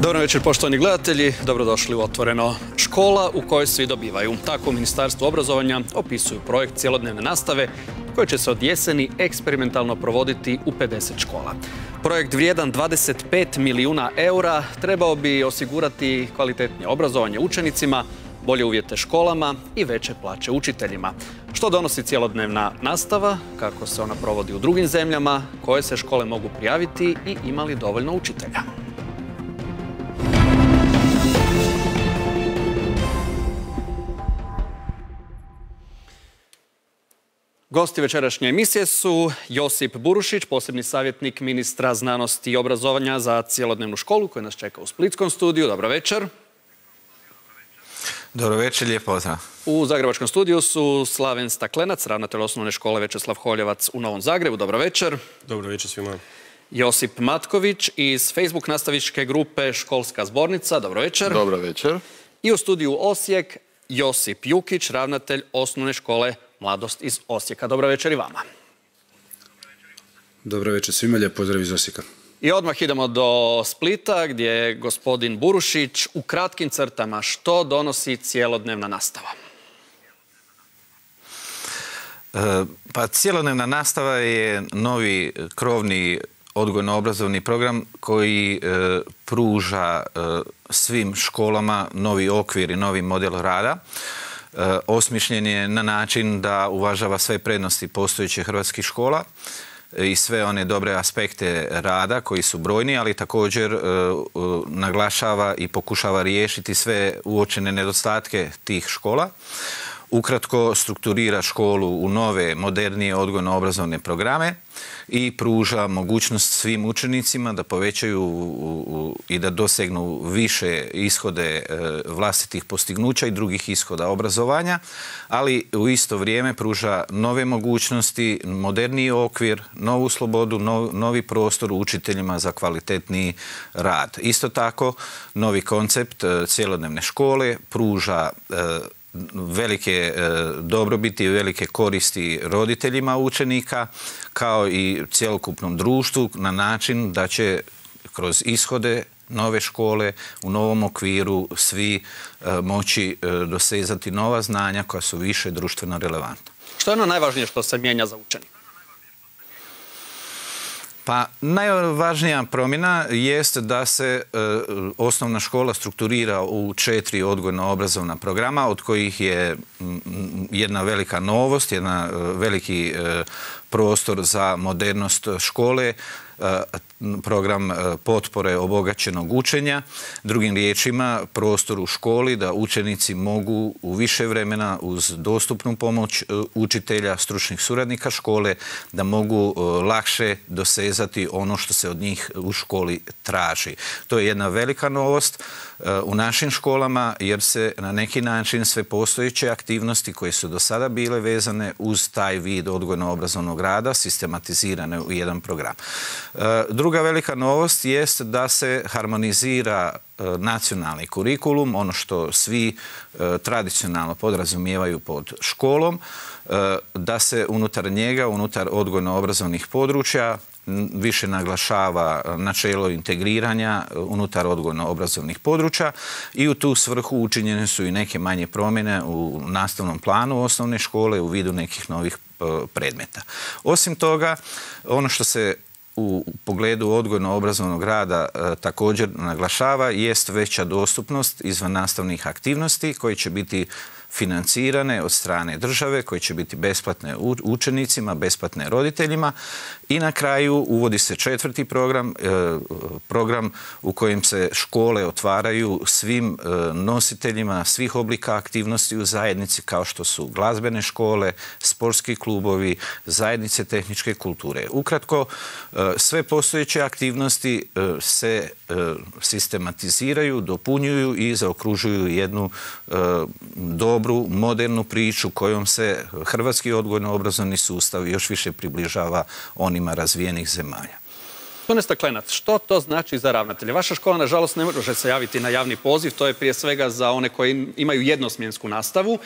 Dobro večer, poštovani gledatelji. Dobrodošli u Otvoreno. Škola u kojoj svi dobivaju. Tako u Ministarstvu obrazovanja opisuju projekt cjelodnevne nastave koji će se od jeseni eksperimentalno provoditi u 50 škola. Projekt vrijedan 25 milijuna eura trebao bi osigurati kvalitetnije obrazovanje učenicima, bolje uvjete školama i veće plaće učiteljima. Što donosi cjelodnevna nastava, kako se ona provodi u drugim zemljama, koje se škole mogu prijaviti i ima li dovoljno učitelja. Gosti večerašnje emisije su Josip Burušić, posebni savjetnik ministra znanosti i obrazovanja za cjelodnevnu školu koji nas čeka u splitskom studiju. Dobro večer. Dobro večer, lijep pozdrav. U zagrebačkom studiju su Slaven Staklenac, ravnatelj osnovne škole Večeslav Holjevac u Novom Zagrebu. Dobro večer. Dobro večer svima. Josip Matković iz Facebook nastavičke grupe Školska zbornica. Dobro večer. Dobro večer. I u studiju Osijek Josip Jukić, ravnatelj osnovne škole Mladost iz Osijeka. Dobro večer i vama. Dobro večer svima, lijep pozdrav iz Osijeka. I odmah idemo do Splita gdje je gospodin Burušić u kratkim crtama što donosi cjelodnevna nastava. Pa cjelodnevna nastava je novi krovni odgojno-obrazovni program koji pruža svim školama novi okvir i novi model rada. Osmišljen je na način da uvažava sve prednosti postojećih hrvatskih škola i sve one dobre aspekte rada koji su brojni, ali također naglašava i pokušava riješiti sve uočene nedostatke tih škola. Ukratko strukturira školu u nove, modernije odgojno-obrazovne programe i pruža mogućnost svim učenicima da povećaju i da dosegnu više ishode vlastitih postignuća i drugih ishoda obrazovanja, ali u isto vrijeme pruža nove mogućnosti, moderniji okvir, novu slobodu, novi prostor učiteljima za kvalitetniji rad. Isto tako, novi koncept cjelodnevne škole pruža velike dobrobiti i velike koristi roditeljima učenika kao i cjelokupnom društvu na način da će kroz ishode nove škole u novom okviru svi moći dosezati nova znanja koja su više društveno relevantna. Što je ono najvažnije što se mijenja za učenika? Pa najvažnija promjena jest da se osnovna škola strukturira u 4 odgojno-obrazovna programa, od kojih je jedna velika novost, jedan veliki prostor za modernost škole, program potpore obogaćenog učenja. Drugim riječima, prostor u školi da učenici mogu u više vremena uz dostupnu pomoć učitelja, stručnih suradnika škole, da mogu lakše dosezati ono što se od njih u školi traži. To je jedna velika novost u našim školama jer se na neki način sve postojeće aktivnosti koje su do sada bile vezane uz taj vid odgojno-obrazovnog rada sistematizirane u jedan program. Druga velika novost jest da se harmonizira nacionalni kurikulum, ono što svi tradicionalno podrazumijevaju pod školom, da se unutar njega, unutar odgojno-obrazovnih područja više naglašava načelo integriranja unutar odgojno-obrazovnih područja i u tu svrhu učinjene su i neke manje promjene u nastavnom planu osnovne škole u vidu nekih novih predmeta. Osim toga, ono što se u pogledu odgojno-obrazovnog rada također naglašava jest veća dostupnost izvan nastavnih aktivnosti koji će biti financirane od strane države, koje će biti besplatne učenicima, besplatne roditeljima i na kraju uvodi se 4. program, program u kojem se škole otvaraju svim nositeljima svih oblika aktivnosti u zajednici kao što su glazbene škole, sportski klubovi, zajednice tehničke kulture. Ukratko, sve postojeće aktivnosti se sistematiziraju, dopunjuju i zaokružuju jednu dobru, modernu priču kojom se hrvatski odgojno-obrazovni sustav još više približava onima razvijenih zemalja. Gospodine Staklenac, što to znači za ravnatelje? Vaša škola, nažalost, ne može se javiti na javni poziv, to je prije svega za one koji imaju jednosmjensku nastavu,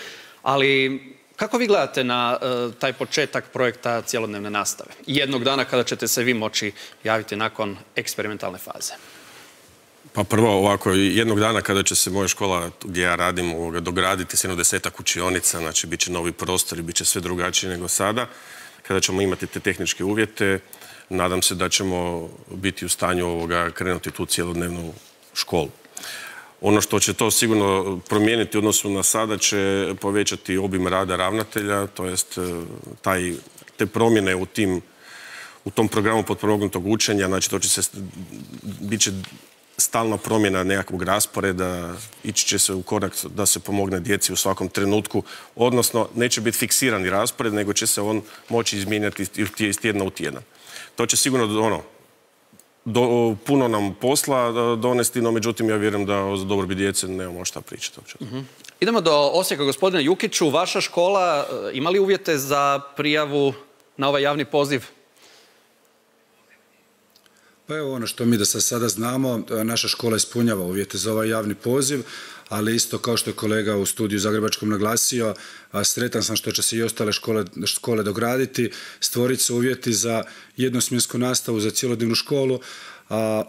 ali kako vi gledate na taj početak projekta cjelodnevne nastave? Jednog dana kada ćete se vi moći javiti nakon eksperimentalne faze? Pa prvo ovako, jednog dana kada će se moja škola gdje ja radim dograditi s 10 učionica, znači bit će novi prostor i bit će sve drugačije nego sada, kada ćemo imati te tehničke uvjete, nadam se da ćemo biti u stanju krenuti tu cjelodnevnu školu. Ono što će to sigurno promijeniti u odnosu na sada će povećati obim rada ravnatelja, to jest te promjene u tom programu potpomognutog učenja, znači bit će stalna promjena nekakvog rasporeda, ići će se u korak da se pomogne djeci u svakom trenutku, odnosno neće biti fiksirani raspored, nego će se on moći izmijenjati iz tjedna u tjedan. To će sigurno puno nam posla donesti, no međutim ja vjerujem da za dobrobit djece nemamo šta pričati. Idemo do Osijeka, gospodine Jukiću. Vaša škola ima li uvjete za prijavu na ovaj javni poziv? Pa evo ono što mi da sada znamo, naša škola ispunjava uvjete za ovaj javni poziv, ali isto kao što je kolega u studiju Zagrebačkom naglasio, sretan sam što će se i ostale škole dograditi, stvoriti se uvjeti za jednosmjensku nastavu, za cjelodnevnu školu.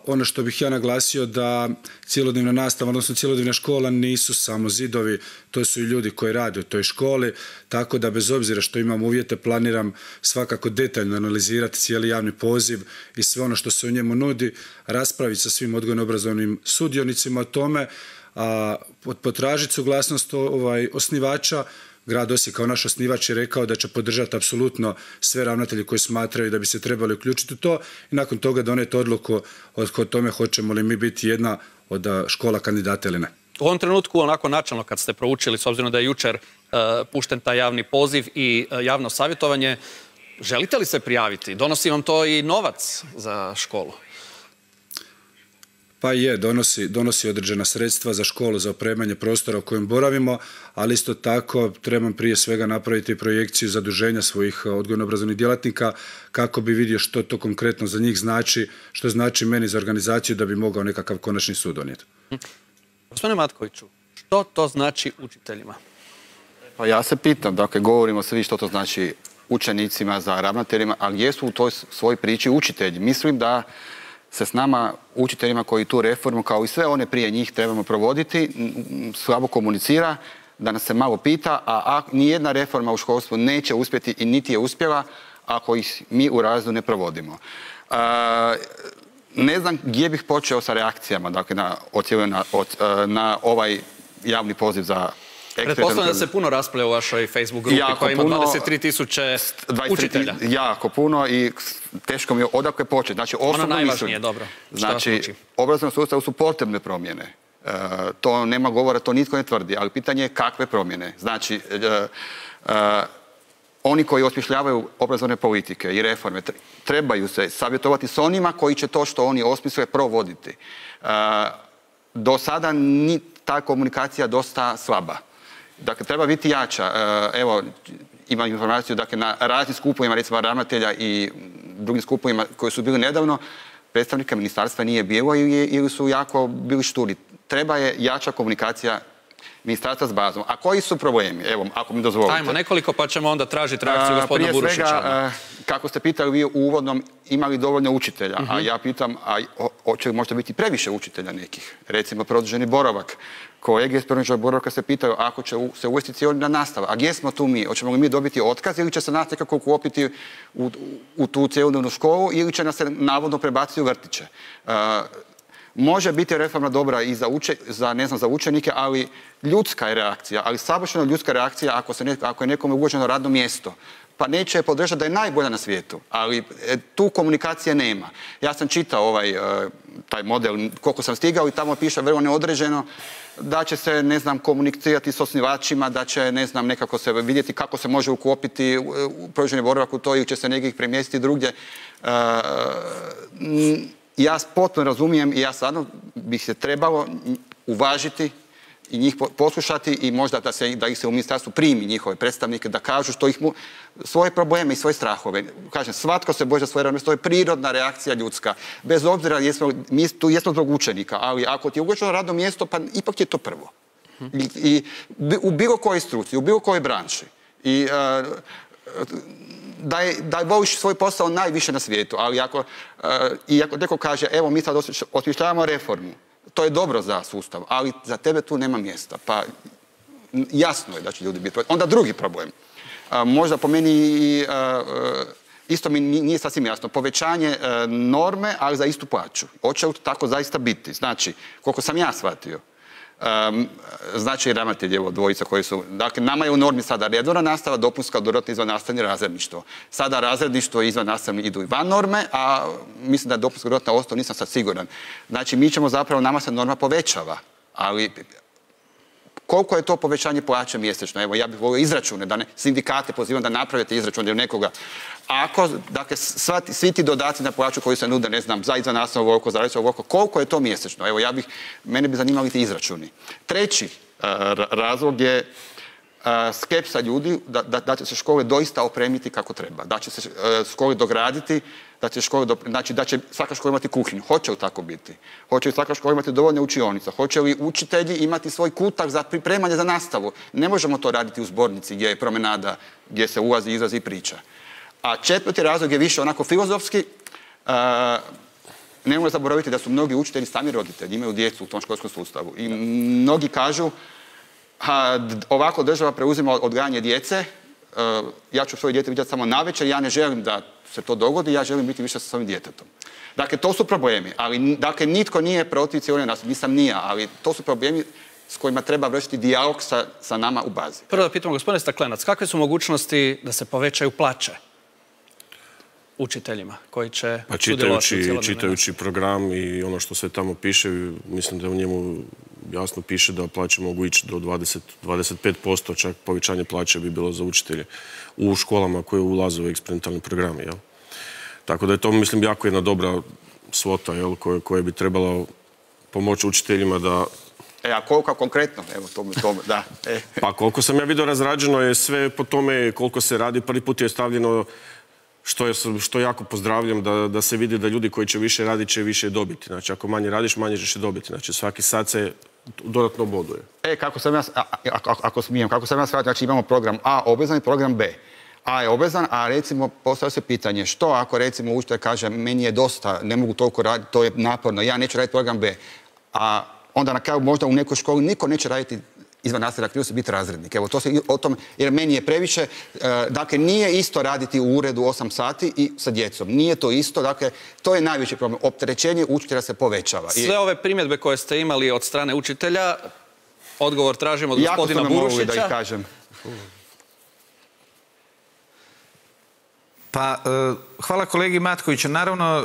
Ono što bih ja naglasio da cjelodnevna nastava, odnosno cjelodnevna škola nisu samo zidovi, to su i ljudi koji rade u toj školi, tako da bez obzira što imam uvjete planiram svakako detaljno analizirati cijeli javni poziv i sve ono što se u njemu nudi, raspraviti sa svim odgojno-obrazovnim sudionicima o tome, potražiti suglasnost osnivača. Grad Osijek kao naš osnivač je rekao da će podržati apsolutno sve ravnatelji koji smatraju da bi se trebali uključiti u to i nakon toga doneti odluku o tome hoćemo li mi biti jedna od škola kandidata ili ne. U ovom trenutku, onako načelno kad ste proučili, s obzirom da je jučer pušten taj javni poziv i javno savjetovanje, želite li se prijaviti? Donosi vam to i novac za školu? Pa je, donosi određena sredstva za školu, za opremanje prostora u kojem boravimo, ali isto tako trebam prije svega napraviti projekciju zaduženja svojih odgojno-obrazovnih djelatnika kako bi vidio što to konkretno za njih znači, što znači meni za organizaciju da bi mogao nekakav konačni sud donijeti. Gospodine Matkoviću, što to znači učiteljima? Pa ja se pitam, dakle, govorimo svi što to znači učenicima, za ravnateljima, a gdje su u toj svojoj priči učitelji? Mislim da se s nama, učiteljima koji tu reformu, kao i sve one prije njih, trebamo provoditi, slabo komunicira, da nas se malo pita, a nijedna reforma u školstvu neće uspjeti i niti je uspjela ako ih mi u razredu ne provodimo. Ne znam gdje bih počeo sa reakcijama, dakle, na ovaj javni poziv za pretpostavljam da se puno raspravlja u vašoj Facebook grupi koja ima 23.000 učitelja. Jako puno i teško mi je odakle početi. Znači, ono najvažnije, dobro. Znači, obrazovnom sustavu su potrebne promjene. To nema govora, to nitko ne tvrdi, ali pitanje je kakve promjene. Znači, oni koji osmišljavaju obrazovne politike i reforme trebaju se savjetovati s onima koji će to što oni osmisle provoditi. Do sada ta komunikacija dosta slaba. Dakle, treba biti jača. Evo, imam informaciju, dakle, na raznim skupovima, recimo ravnatelja i drugim skupovima koji su bili nedavno, predstavnika ministarstva nije bilo ili su jako bili šturi. Treba je jača komunikacija ministarstva s bazom. A koji su problemi? Evo, ako mi dozvolite. Ajmo nekoliko pa ćemo onda tražiti reakciju gospodina Burušića. Prije svega, kako ste pitali vi u uvodnom, imali dovoljno učitelja, a ja pitam, hoće li možda biti previše učitelja nekih? Recimo, produženi boravak. Kolege iz produženog boravka se pitaju ako će se uvesti cjelodnevna nastava. A gdje smo tu mi? Hoćemo li mi dobiti otkaz ili će se nas nekako uklopiti u tu cjelodnevnu školu ili će nas se navodno prebaciti u vrtiće? Može biti reforma dobra i za učenike, ali ljudska je reakcija, ali savršeno ljudska reakcija ako je nekome ugroženo radno mjesto. Pa neće je podržati da je najbolja na svijetu, ali tu komunikacije nema. Ja sam čitao taj model koliko sam stigao i tamo piše vrlo neodređeno da će se, ne znam, komunicirati s osnivačima, da će, ne znam, nekako se vidjeti kako se može uklopiti produženi boravak u to ili će se negdje premjestiti drugdje. Ja potpuno razumijem i ja stvarno bih se trebalo uvažiti i njih poslušati i možda da ih se u ministarstvu primi njihove predstavnike, da kažu svoje probleme i svoje strahove. Kažem, svatko se boji za svoje radno mjesto, to je prirodna reakcija ljudska. Bez obzira, mi tu jesmo zbog učenika, ali ako ti je ugroženo radno mjesto, pa ipak je to prvo. I u bilo kojoj struci, u bilo kojoj branši. I da voliš svoj posao najviše na svijetu, ali ako neko kaže, evo mi sad osmišljavamo reformu, To je dobro za sustav, ali za tebe tu nema mjesta. Pa jasno je da će ljudi biti. Onda drugi problem. Možda po meni isto mi nije sasvim jasno. Povećanje norme, ali za istu plaću. Hoće li to tako zaista biti? Znači, koliko sam ja shvatio, znači i ravnatelj, evo, dvojica koji su... Dakle, nama je u normi sada redovna nastava, dopunska, dodatno izvannastavno razredništvo. Sada razredništvo i izvannastavni idu i van norme, a mislim da je dopunska dodatna ostao, nisam sad siguran. Znači, mi ćemo zapravo, nama se norma povećava, ali koliko je to povećanje plaće mjesečno? Evo, ja bih volio izračune, da ne sindikate pozivam da napravite izračune nekoga. Ako, dakle, svi ti dodaci na plaću koji se nude, ne znam, za izvannastavno ovoliko, za različno ovoliko, koliko je to mjesečno? Evo, mene bi zanimali ti izračuni. Treći razlog je skepsa ljudi da će se škole doista opremiti kako treba, da će se škole dograditi, znači da će svaka škola imati kuhinju. Hoće li tako biti? Hoće li svaka škola imati dovoljno učionica? Hoće li učitelji imati svoj kutak za pripremanje za nastavu? Ne možemo to raditi u zbornici gdje je promenada, gdje se ulazi, izlazi i priča. A četvrti razlog je više onako filozofski. Nemojmo zaboraviti da su mnogi učitelji sami roditelji, imaju djecu u tom školskom sustavu. I mnogi kažu, ovako država preuzima odgajanje djece, ja ću svoje dijete vidjeti samo navečer, ja ne želim da se to dogodi, ja želim biti više sa svojim djetetom. Dakle, to su problemi, ali dakle, nitko nije protiv cijelog nas, nisam ni ja, ali to su problemi s kojima treba vršiti dijalog sa nama u bazi. Prvo da pitamo, gospodine Staklenac, kakve su mogućnosti da se povećaju plaće učiteljima koji će sudjelovati u cijelodnevnoj čitajući program i ono što sve tamo piše, mislim da u njemu jasno piše da plaće mogu ići do 25%, čak povećanje plaće bi bilo za učitelje u školama koje ulaze u eksperimentalni program. Tako da je to, mislim, jako jedna dobra svota koja bi trebala pomoći učiteljima da... A koliko konkretno? Evo, to da. Pa koliko sam ja vidio, razrađeno je sve po tome koliko se radi. Prvi put je stavljeno, što jako pozdravljam, da se vidi da ljudi koji će više raditi će više dobiti. Znači, ako manje radiš, manje ćeš dobiti. Znači, svaki sat se dodatno boduje. Kako sam ja shvatio, znači imamo program A obvezan i program B. A je obvezan, a recimo postavlja se pitanje što ako recimo učitelj kaže meni je dosta, ne mogu toliko raditi, to je naporno, ja neću raditi program B. A onda na kraju možda u nekoj školi niko neće raditi izvan nastavne aktivnosti, biti razrednik. Evo, to se o tom, jer meni je previše, dakle, nije isto raditi u uredu 8 sati i sa djecom. Nije to isto, dakle, to je najveći problem. Opterećenje učitelja se povećava. Sve ove primjedbe koje ste imali od strane učitelja, odgovor tražimo od gospodina Burušića. Da ih kažem. Pa, hvala kolegi Matkoviću. Naravno,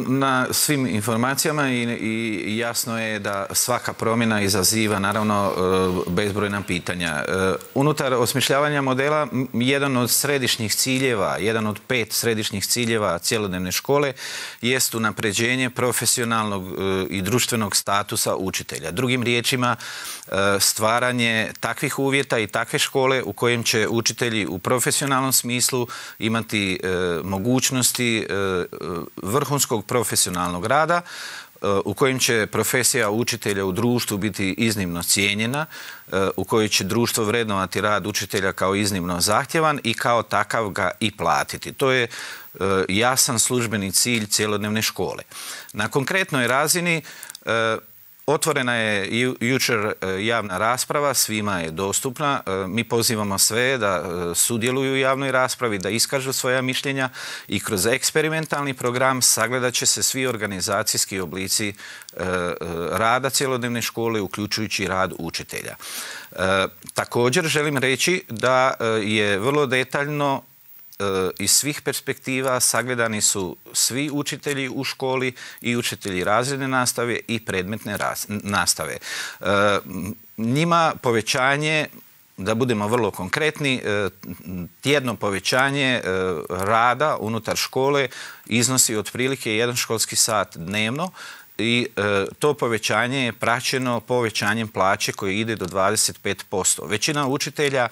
na svim informacijama i jasno je da svaka promjena izaziva, naravno, bezbrojna pitanja. Unutar osmišljavanja modela, jedan od središnjih ciljeva, jedan od 5 središnjih ciljeva cjelodnevne škole jest unapređenje profesionalnog i društvenog statusa učitelja. Drugim riječima, stvaranje takvih uvjeta i takve škole u kojem će učitelji u profesionalnom smislu imati mogućnosti vrhunskog profesionalnog rada, u kojem će profesija učitelja u društvu biti iznimno cijenjena, u kojoj će društvo vrednovati rad učitelja kao iznimno zahtjevan i kao takav ga i platiti. To je jasan službeni cilj cjelodnevne škole. Na konkretnoj razini otvorena je jučer javna rasprava, svima je dostupna. Mi pozivamo sve da sudjeluju u javnoj raspravi, da iskažu svoja mišljenja i kroz eksperimentalni program sagledat će se svi organizacijski oblici rada cjelodnevne škole, uključujući rad učitelja. Također želim reći da je vrlo detaljno iz svih perspektiva sagledani su svi učitelji u školi i učitelji razredne nastave i predmetne nastave. Njima povećanje, da budemo vrlo konkretni, tjedno povećanje rada unutar škole iznosi otprilike 1 školski sat dnevno i to povećanje je praćeno povećanjem plaće koje ide do 25%. Većina učitelja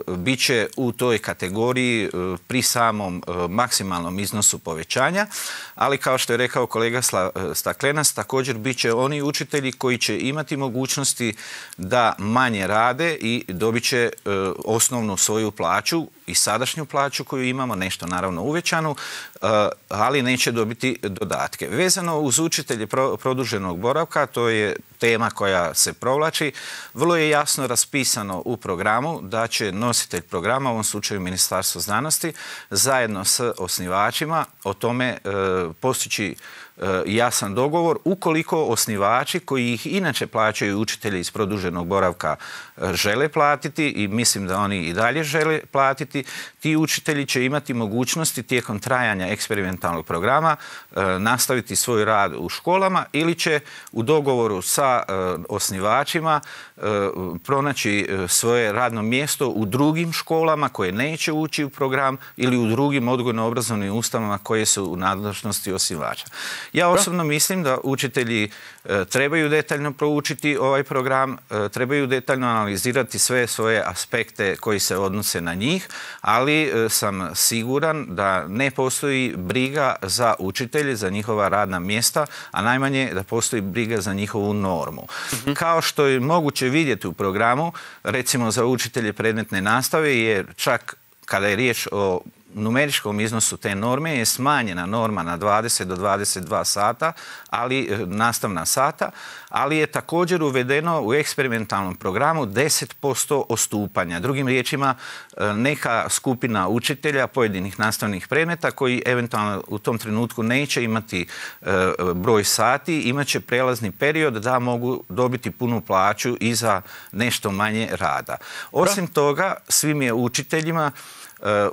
bit će u toj kategoriji pri samom maksimalnom iznosu povećanja, ali kao što je rekao kolega Staklenac, također bit će oni učitelji koji će imati mogućnosti da manje rade i dobit će osnovnu svoju plaću i sadašnju plaću koju imamo, nešto naravno uvećanu, ali neće dobiti dodatke. Vezano uz učitelje produženog boravka, to je tema koja se provlači, vrlo je jasno raspisano u programu da će nositelj programa, u ovom slučaju Ministarstvo znanosti, zajedno s osnivačima o tome postići jasan dogovor ukoliko osnivači koji ih inače plaćaju učitelji iz produženog boravka žele platiti i mislim da oni i dalje žele platiti, ti učitelji će imati mogućnosti tijekom trajanja eksperimentalnog programa nastaviti svoj rad u školama ili će u dogovoru sa osnivačima pronaći svoje radno mjesto u drugim školama koje neće ući u program ili u drugim odgojno-obrazovnim ustanovama koje su u nadležnosti osnivača. Ja osobno mislim da učitelji trebaju detaljno proučiti ovaj program, trebaju detaljno analizirati sve svoje aspekte koji se odnose na njih, ali sam siguran da ne postoji briga za učitelje, za njihova radna mjesta, a najmanje da postoji briga za njihovu normu. Kao što je moguće vidjeti u programu, recimo za učitelje predmetne nastave, jer čak kada je riječ o numeričkom iznosu te norme je smanjena norma na 20 do 22 sata, nastavna sata, ali je također uvedeno u eksperimentalnom programu 10% odstupanja. Drugim riječima, neka skupina učitelja pojedinih nastavnih predmeta koji eventualno u tom trenutku neće imati broj sati, imat će prelazni period da mogu dobiti punu plaću i za nešto manje rada. Osim toga, svim je učiteljima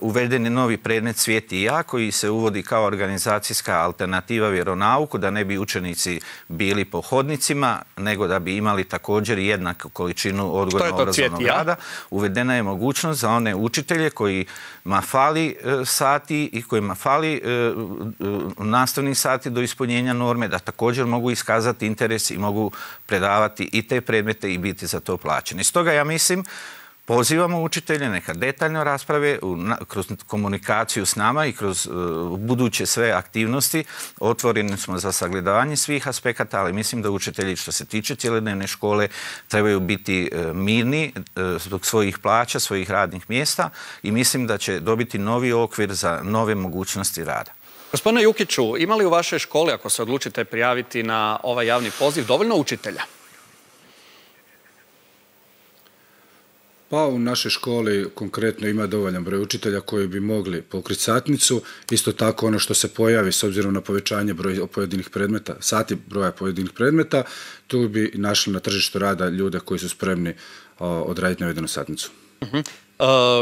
uveden je novi predmet Svijet i ja koji se uvodi kao organizacijska alternativa vjeronauku, da ne bi učenici bili po hodnicima, nego da bi imali također jednaku količinu odgojno-obrazovnog rada. Uvedena je mogućnost za one učitelje kojima fali sati i kojima fali nastavnih sati do ispunjenja norme, da također mogu iskazati interes i mogu predavati i te predmete i biti za to plaćeni. Stoga ja mislim, pozivamo učitelje neka detaljno rasprave kroz komunikaciju s nama i kroz buduće sve aktivnosti. Otvoreni smo za sagledavanje svih aspekata, ali mislim da učitelji što se tiče cjelodnevne škole trebaju biti mirni zbog svojih plaća, svojih radnih mjesta i mislim da će dobiti novi okvir za nove mogućnosti rada. Gospodine Jukiću, ima li u vašoj školi, ako se odlučite prijaviti na ovaj javni poziv, dovoljno učitelja? Pa u našoj školi konkretno ima dovoljan broj učitelja koji bi mogli pokriti satnicu. Isto tako ono što se pojavi s obzirom na povećanje broja pojedinih predmeta, sati broja pojedinih predmeta, tu bi našli na tržištu rada ljude koji su spremni odraditi navedenu satnicu.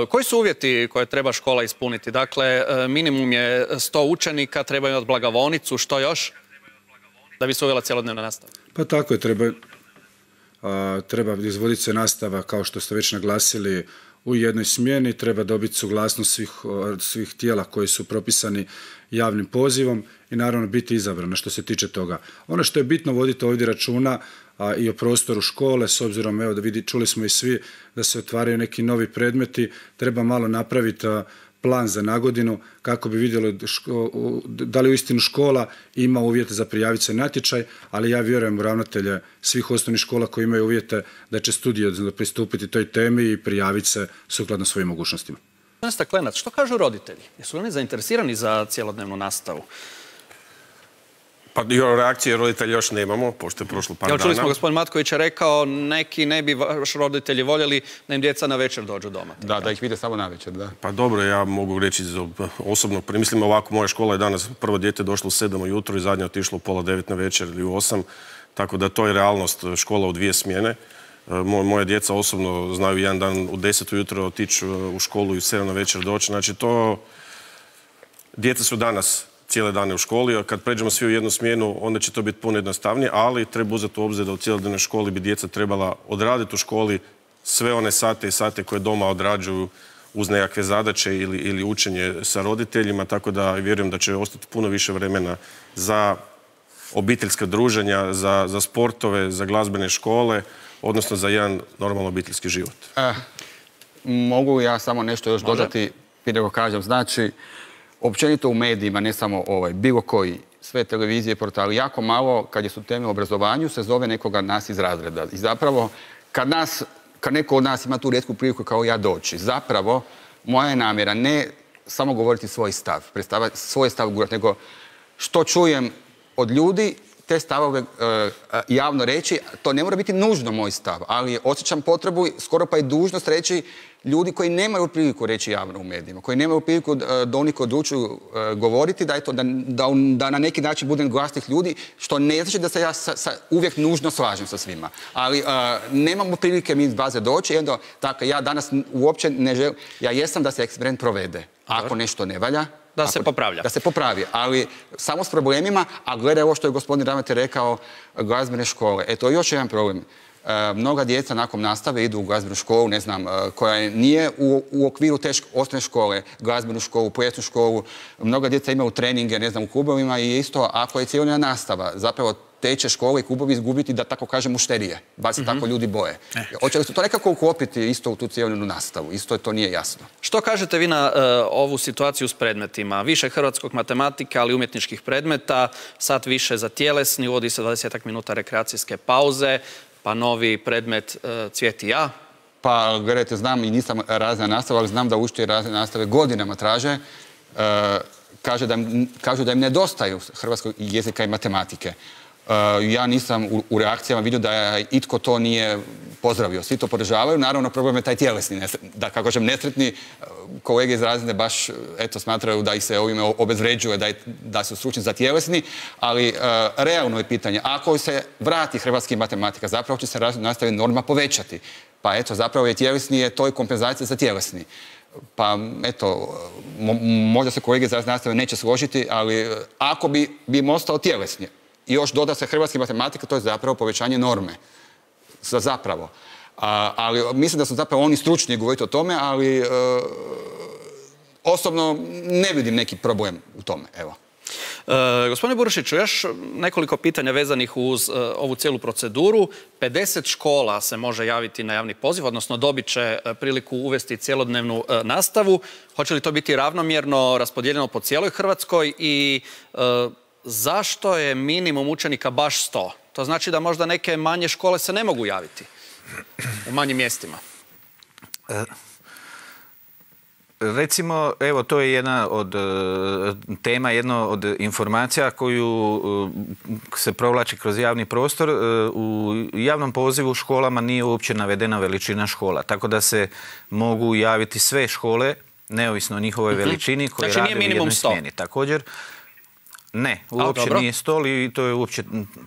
Koji su uvjeti koje treba škola ispuniti? Dakle, minimum je 100 učenika, treba imati blagovonicu, što još? Da bi se uvela cjelodnevna nastava. Pa tako je, treba izvoditi se nastava, kao što ste već naglasili, u jednoj smjeni, treba dobiti suglasnost svih tijela koji su propisani javnim pozivom i naravno biti izabrana što se tiče toga. Ono što je bitno voditi ovdje računa i o prostoru škole, s obzirom, evo čuli smo i svi da se otvaraju neki novi predmeti, treba malo napraviti plan za nagodinu kako bi vidjeli da li uistinu škola ima uvjete za prijaviti se natječaj, ali ja vjerujem u ravnatelje svih osnovnih škola koji imaju uvjete da će studiozno pristupiti toj temi i prijaviti se sukladno svojim mogućnostima. Gospodin Staklenac, što kažu roditelji? Jesu oni zainteresirani za cjelodnevnu nastavu? Pa reakcije roditelja još nemamo, pošto je prošlo par dana. Čuli smo, gospodin Matković je rekao, neki ne bi vaš roditelji voljeli da im djeca na večer dođu doma. Da ih vide samo na večer, da. Pa dobro, ja mogu reći osobno, mislim ovako, moja škola je danas prvo dijete došlo u 7 ujutro i zadnje otišlo u pola 9 na večer ili u 8, tako da to je realnost škola u 2 smjene. Moja djeca osobno znaju jedan dan u 10 ujutro otići u školu i u 7 na večer doći, znači to, djeca su danas cijele dane u školi, a kad pređemo svi u jednu smjenu, onda će to biti puno jednostavnije, ali treba uzeti u obzir da u cijelodnevnoj školi bi djeca trebala odraditi u školi sve one sate i sate koje doma odrađuju uz nekakve zadaće ili učenje sa roditeljima, tako da vjerujem da će ostati puno više vremena za obiteljska druženja, za sportove, za glazbene škole, odnosno za jedan normalan obiteljski život. Mogu ja samo nešto još dodati, prije nego kažem. Znači, općenito u medijima, ne samo bilo koji, sve televizije, portali, jako malo, kad su teme o obrazovanju, se zove nekoga nas iz razreda. I zapravo, kad neko od nas ima tu rijetku priliku kao ja doći, zapravo, moja je namjera ne samo govoriti svoj stav, predstaviti svoj stav gurati, nego što čujem od ljudi, te stavove javno reći, to ne mora biti nužno moj stav, ali osjećam potrebu, skoro pa i dužnost reći ljudi koji nemaju priliku reći javno u medijima, koji nemaju priliku da oni odlučuju govoriti, da na neki način budem glas tih ljudi, što ne znači da se ja uvijek nužno slažem sa svima. Ali nemamo prilike mi iz baze doći, dakle, ja danas uopće ne želim, ja jesam da se eksperiment provede. Ako nešto ne valja, da se popravlja. Da se popravi, ali samo s problemima, a gledaj ovo što je gospodin ravnatelj rekao, glazbene škole. To je još jedan problem. Mnoga djeca nakon nastave idu u glazbenu školu, ne znam, koja nije u okviru te osnovne škole, glazbenu školu, plesnu školu. Mnoga djeca imaju treninge, ne znam, u klubovima i isto ako je cjelodnevna nastava, zapravo te će škole i klubovi izgubiti, da tako kažem, mušterije. Bar se tako ljudi boje. Hoće li se to nekako uklopiti isto u tu cjelodnevnu nastavu? Isto to nije jasno. Što kažete vi na ovu situaciju s predmetima? Više hrvatskog matematika, ali umjetničkih predmeta, sat više za tjelesni, uvodi se 20 minuta rekreacijske pauze, pa novi predmet Cvijet i ja. Pa, gledajte, znam i nisam razredna nastava, ali znam da učitelji razredne nastave godinama traže. Kažu da im nedostaju hrvatskog jezika i matematike. Ja nisam u reakcijama vidio da itko to nije pozdravio. Svi to podržavaju. Naravno, problem je taj tjelesni. Da, kako kažem, nesretni kolege iz razredne baš smatraju da ih se ovime obezvređuje, da su stručni za tjelesni, ali realno je pitanje. Ako se vrati hrvatski matematika, zapravo će se razredna nastava norma povećati. Pa zapravo je tjelesni, to je kompenzacija za tjelesni. Pa, možda se kolege iz razredne nastave neće složiti, ali ako bi im ostao tjelesni, i još doda se hrvatski matematika, to je zapravo povećanje norme. Zapravo. Ali mislim da su zapravo oni stručni govoriti o tome, ali osobno ne vidim neki problem u tome. Evo. Gospodine Burušiću, još nekoliko pitanja vezanih uz ovu cijelu proceduru. 50 škola se može javiti na javni poziv, odnosno dobit će priliku uvesti cjelodnevnu nastavu. Hoće li to biti ravnomjerno raspodijeljeno po cijeloj Hrvatskoj i zašto je minimum učenika baš 100? To znači da možda neke manje škole se ne mogu javiti u manjim mjestima. Recimo, evo, to je jedna od tema, jedna od informacija koju se provlači kroz javni prostor. U javnom pozivu školama nije uopće navedena veličina škola, tako da se mogu javiti sve škole, neovisno o njihovoj veličini, koje rade u jednoj smjeni. Također, ne, uopće nije 100 i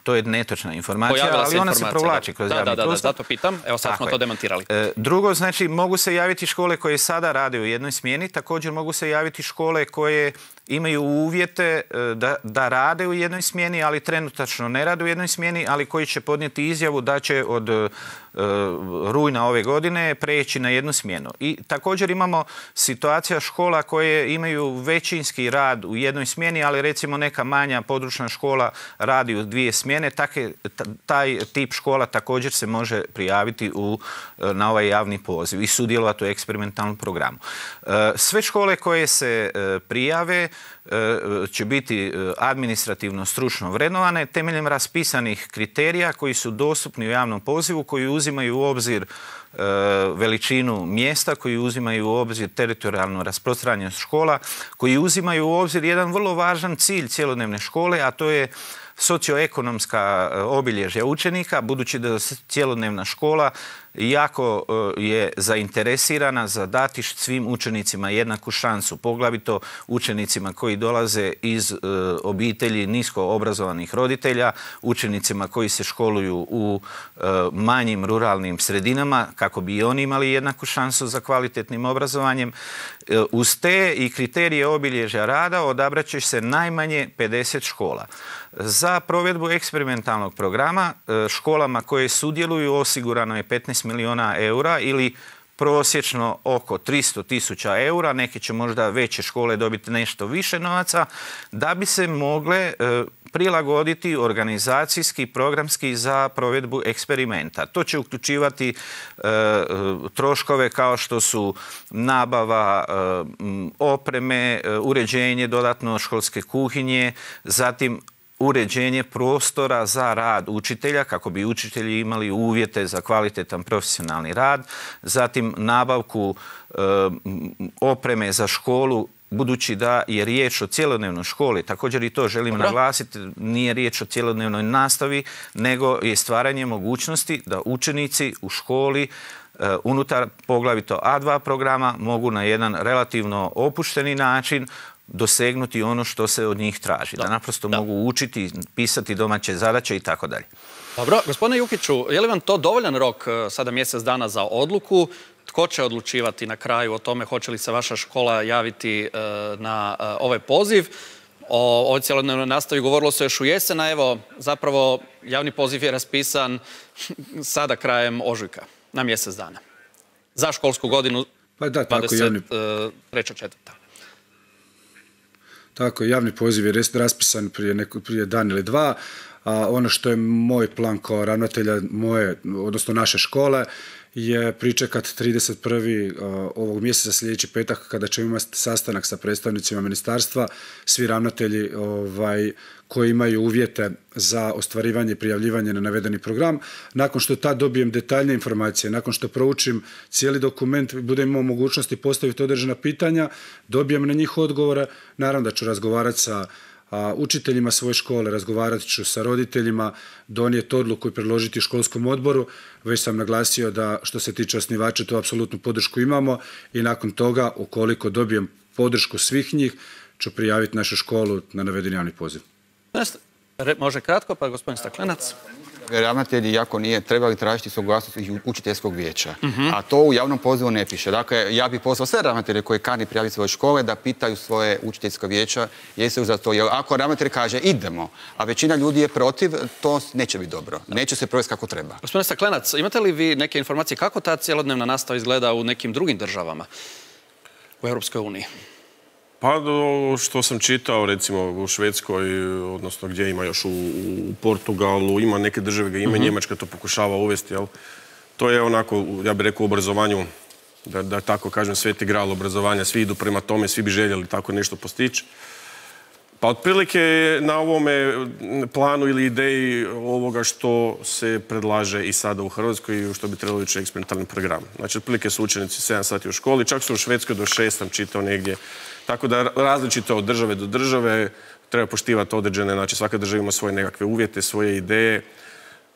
to je netočna informacija, ali ona se provlači kroz javni prostor. Da, zato pitam. Evo sad smo to demantirali. Drugo, znači, mogu se javiti škole koje sada rade u jednoj smjeni, također mogu se javiti škole koje imaju uvjete da rade u jednoj smjeni, ali trenutačno ne rade u jednoj smjeni, ali koji će podnijeti izjavu da će od rujna ove godine preći na jednu smjenu. I također imamo situacija škola koje imaju većinski rad u jednoj smjeni, ali recimo neka manja područna škola radi u 2 smjene. Taj tip škola također se može prijaviti na ovaj javni poziv i sudjelovati u eksperimentalnom programu. Sve škole koje se prijave će biti administrativno stručno vrednovane temeljem raspisanih kriterija koji su dostupni u javnom pozivu, koji uzimaju u obzir veličinu mjesta, koji uzimaju u obzir teritorijalnu rasprostranjenost škola, koji uzimaju u obzir jedan vrlo važan cilj cjelodnevne škole, a to je socioekonomska obilježja učenika, budući da cjelodnevna škola jako je zainteresirana za dati svim učenicima jednaku šansu, poglavito učenicima koji dolaze iz obitelji nisko obrazovanih roditelja, učenicima koji se školuju u manjim ruralnim sredinama, kako bi i oni imali jednaku šansu za kvalitetnim obrazovanjem. Uz te i kriterije obilježja rada odabrat će se najmanje 50 škola. Za provedbu eksperimentalnog programa školama koje sudjeluju osigurano je 15 milijuna eura ili prosječno oko 300.000 eura, neke će možda veće škole dobiti nešto više novaca, da bi se mogle prilagoditi organizacijski, programski za provedbu eksperimenta. To će uključivati troškove kao što su nabava opreme, uređenje dodatno školske kuhinje, zatim uređenje prostora za rad učitelja kako bi učitelji imali uvjete za kvalitetan profesionalni rad, zatim nabavku opreme za školu, budući da je riječ o cjelodnevnoj školi. Također i to želim naglasiti, nije riječ o cjelodnevnoj nastavi, nego je stvaranje mogućnosti da učenici u školi unutar poglavito A2 programa mogu na jedan relativno opušteni način dosegnuti ono što se od njih traži. Da naprosto mogu učiti, pisati domaće zadaće i tako dalje. Dobro, gospodine Jukiću, je li vam to dovoljan rok, sada mjesec dana, za odluku? Tko će odlučivati na kraju o tome hoće li se vaša škola javiti na ovaj poziv? O ovoj cjelodnevnoj nastavi govorilo se još u jesen, a evo, zapravo javni poziv je raspisan sada krajem ožujka, na mjesec dana. Za školsku godinu 23.4. Tako, javni poziv je raspisan prije dan ili dva, a ono što je moj plan kao ravnatelja odnosno naše škole, je pričekat 31. ovog mjeseca sljedeći petak kada ćemo imati sastanak sa predstavnicima ministarstva, svi ravnatelji koji imaju uvjete za ostvarivanje i prijavljivanje na navedeni program. Nakon što tad dobijem detaljne informacije, nakon što proučim cijeli dokument, budem imao mogućnosti postaviti određena pitanja, dobijem na njih odgovore, naravno da ću razgovarati sa učiteljima svoje škole, razgovarat ću sa roditeljima, donijeti odluku i predložiti školskom odboru. Već sam naglasio da što se tiče osnivača to apsolutnu podršku imamo i nakon toga, ukoliko dobijem podršku svih njih, ću prijaviti našu školu na navedeni javni poziv. Može kratko, pa gospodin Staklenac. Ravnatelji, jako nije trebali tražiti suglasnost učiteljskog vijeća. A to u javnom pozivu ne piše. Dakle, ja bih pozvao sve ravnatelje koji kani prijaviti svoje škole da pitaju svoje učiteljsko vijeća jesu za to. Jer ako ravnatelj kaže idemo, a većina ljudi je protiv, to neće biti dobro. Neće se provesti kako treba. Gospodine Staklenac, imate li vi neke informacije kako ta cjelodnevna nastava izgleda u nekim drugim državama u Europskoj uniji? Pa što sam čitao, recimo u Švedskoj, odnosno gdje ima još u Portugalu, ima neke države ga ima, Njemačka to pokušava uvesti, jel? To je onako, ja bih rekao, u obrazovanju, da tako kažem, sveti gral obrazovanja, svi idu prema tome, svi bi željeli tako nešto postići. Pa otprilike na ovome planu ili ideji ovoga što se predlaže i sada u Hrvatskoj i što bi trebalo ići eksperimentalni program. Znači, otprilike su učenici 7 sati u školi, čak su u Švedskoj do 6 sam čitao negdje. Tako da različito od države do države treba poštivati određene, znači svaka država ima svoje nekakve uvjete, svoje ideje,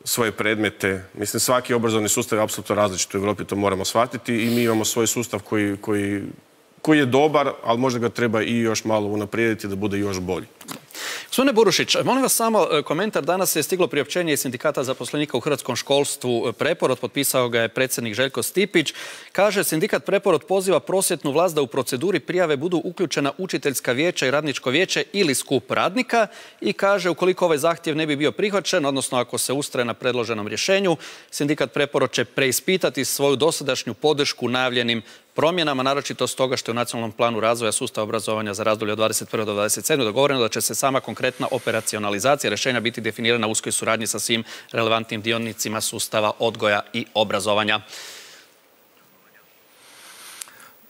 svoje predmete. Mislim, svaki obrazovni sustav je apsolutno različit u Europi, to moramo shvatiti i mi imamo svoj sustav koji je dobar, ali možda ga treba i još malo unaprijediti da bude još bolji. Gospodine Burušić, molim vas samo komentar. Danas je stiglo priopćenje iz Sindikata zaposlenika u hrvatskom školstvu Preporod, potpisao ga je predsjednik Željko Stipić. Kaže, sindikat Preporod poziva prosvjetnu vlast da u proceduri prijave budu uključena učiteljska vijeća i radničko vijeće ili skup radnika i kaže, ukoliko ovaj zahtjev ne bi bio prihvaćen, odnosno ako se ustraje na predloženom rješenju, sindikat Preporod će preispitati svoju dosadašnju podršku najavljenim promjenama, naročito stoga što je u Nacionalnom planu razvoja sustava obrazovanja za razdoblje od 21. do 27. dogovoreno da će se sama konkretna operacionalizacija rješenja biti definirana u uskoj suradnji sa svim relevantnim dionicima sustava odgoja i obrazovanja.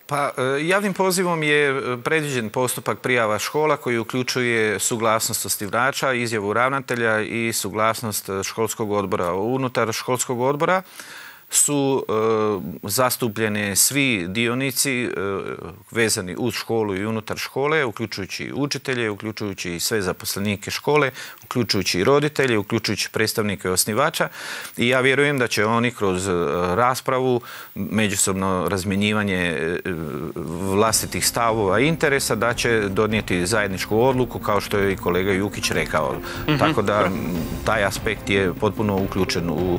Pa, javnim pozivom je predviđen postupak prijava škola koji uključuje suglasnost osnivača, izjavu ravnatelja i suglasnost školskog odbora. Unutar školskog odbora su zastupljeni svi dionici vezani uz školu i unutar škole, uključujući učitelje, uključujući sve zaposlenike škole, uključujući i roditelje, uključujući predstavnike osnivača i ja vjerujem da će oni kroz raspravu, međusobno razmjenjivanje vlastitih stavova i interesa da će donijeti zajedničku odluku kao što je i kolega Jukić rekao. Tako da taj aspekt je potpuno uključen u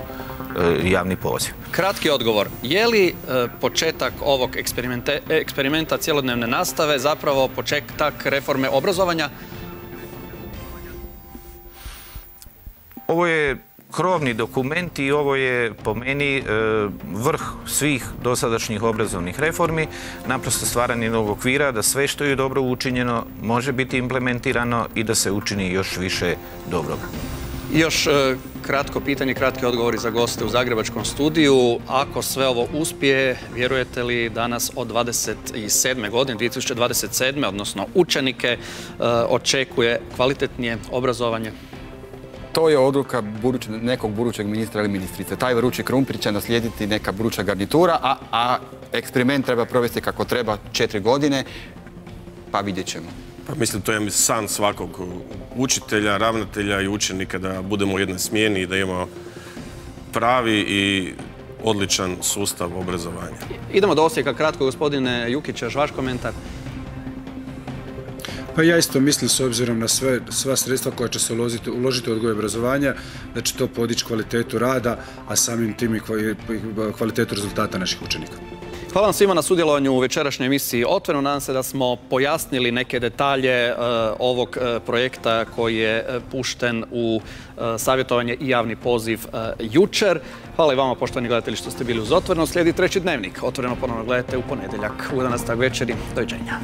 javni poziv. Kratki odgovor. Je li početak ovog eksperimenta cjelodnevne nastave zapravo početak reforme obrazovanja? Ovo je krovni dokument i ovo je po meni vrh svih dosadašnjih obrazovnih reformi, naprosto stvaranje novog okvira da sve što je dobro učinjeno može biti implementirano i da se učini još više dobroga. Još kratko pitanje, kratki odgovori za goste u Zagrebačkom studiju. Ako sve ovo uspije, vjerujete li danas od 27. godine, 2027. odnosno učenike, očekuje kvalitetnije obrazovanje? To je odluka nekog budućeg ministra ili ministrice. Taj vrući krumpir će naslijediti neka buduća garnitura, a eksperiment treba provesti kako treba 4 godine, pa vidjet ćemo. Pa mislim, to je san svakog učitelja, ravnatelja i učenika da budemo u jednoj smjeni i da imamo pravi i odličan sustav obrazovanja. Idemo do Osijeka kratko, gospodine Jukić, još vaš komentar. Pa ja isto mislim, s obzirom na sva sredstva koja će se uložiti u odgoj i obrazovanja, da će to podići kvalitetu rada, a samim tim i kvalitetu rezultata naših učenika. Hvala vam svima na sudjelovanju u večerašnjoj emisiji Otvoreno. Nadam se da smo pojasnili neke detalje ovog projekta koji je pušten u savjetovanje i javni poziv jučer. Hvala i vama, poštovani gledatelji, što ste bili uz Otvoreno. Slijedi treći dnevnik. Otvoreno ponovno gledajte u ponedjeljak u 11. večeri. Doviđenja.